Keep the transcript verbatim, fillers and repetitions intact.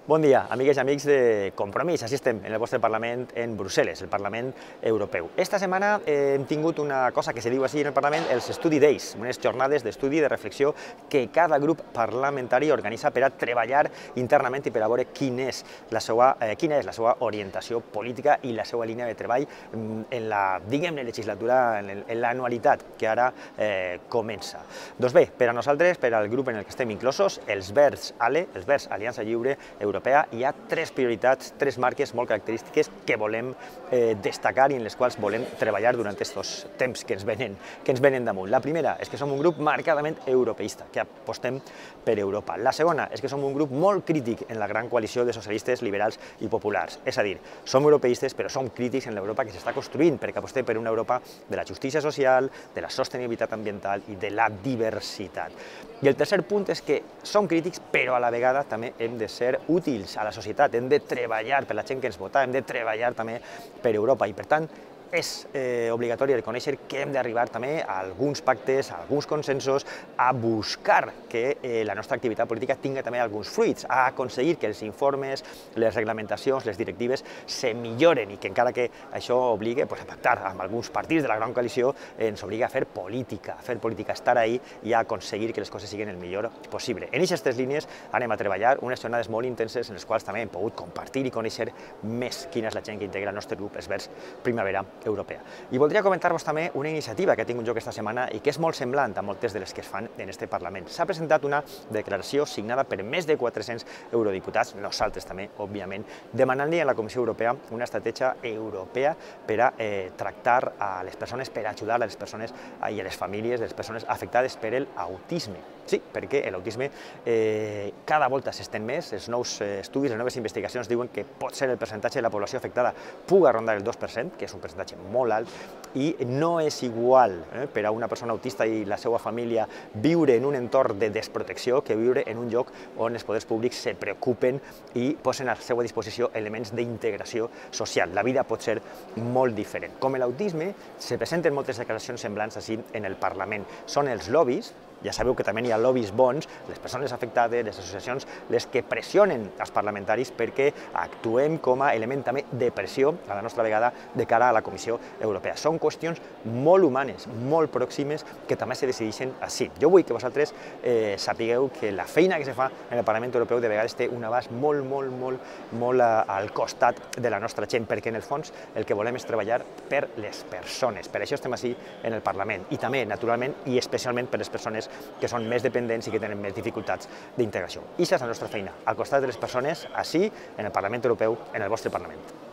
Bon dia, amigues i amics de Compromís. Així estem en el vostre Parlament en Brussel·les, el Parlament Europeu. Esta setmana hem tingut una cosa que se diu així en el Parlament, els Study Days, unes jornades d'estudi i de reflexió que cada grup parlamentari organitza per a treballar internament i per a veure quina és la seva, eh, quina és la seva orientació política i la seva línia de treball en la, diguem-ne, legislatura, en l'anualitat que ara eh, comença. Doncs bé, per a nosaltres, per al grup en el que estem inclosos, els Verds ALE, els Verds Aliança Lliure Europea, hi ha tres prioritats, tres marques molt característiques que volem eh, destacar i en les quals volem treballar durant aquests temps que ens venen, que ens venen damunt. La primera és que som un grup marcadament europeista, que apostem per Europa. La segona és que som un grup molt crític en la gran coalició de socialistes, liberals i populars. És a dir, som europeistes però som crítics en l'Europa que s'està construint, perquè apostem per una Europa de la justícia social, de la sostenibilitat ambiental i de la diversitat. I el tercer punt és que som crítics però a la vegada també hem de ser útils a la societat, hem de treballar per la gent que ens vota, hem de treballar també per Europa i per tant és eh, obligatori reconèixer que hem d'arribar també a alguns pactes, a alguns consensos, a buscar que eh, la nostra activitat política tingui també alguns fruits, a aconseguir que els informes, les reglamentacions, les directives se milloren i que encara que això obligue pues, a pactar amb alguns partits de la gran coalició, eh, ens obliga a fer política, a fer política, a estar ahí i a aconseguir que les coses siguin el millor possible. En aquestes tres línies anem a treballar unes jornades molt intenses en les quals també hem pogut compartir i conèixer més quina és la gent que integra el nostre grup, els Verds Primavera Europea. I voldria comentar-vos també una iniciativa que ha tingut lloc aquesta setmana i que és molt semblant a moltes de les que es fan en este Parlament. S'ha presentat una declaració signada per més de quatre-cents eurodiputats, nosaltres també, òbviament, demanant-li a la Comissió Europea una estratègia europea per a eh, tractar a les persones, per ajudar a les persones i a les famílies de les persones afectades per l'autisme. Sí, perquè l'autisme eh, cada volta s'estén més, els nous eh, estudis, les noves investigacions diuen que pot ser el percentatge de la població afectada puga rondar el dos per cent, que és un percentatge molt alt i no és igual eh, per a una persona autista i la seva família viure en un entorn de desprotecció que viure en un lloc on els poders públics se preocupen i posen a la seva disposició elements d'integració social. La vida pot ser molt diferent. Com l'autisme, se presenten moltes declaracions semblants així en el Parlament. Són els lobbies, ja sabeu que també hi ha lobbies bons, les persones afectades, les associacions, les que pressionen els parlamentaris perquè actuem com a element també de pressió, a la nostra vegada, de cara a la Comissió Europea. Són qüestions molt humanes, molt pròximes, que també se decideixen així. Jo vull que vosaltres eh, sapigueu que la feina que se fa en el Parlament Europeu de vegades té un abast molt, molt, molt, molt al costat de la nostra gent, perquè en el fons el que volem és treballar per les persones. Per això estem així en el Parlament i també, naturalment, i especialment per les persones que són més dependents i que tenen més dificultats d'integració. I això és la nostra feina, al costat de les persones, així, en el Parlament Europeu, en el vostre Parlament.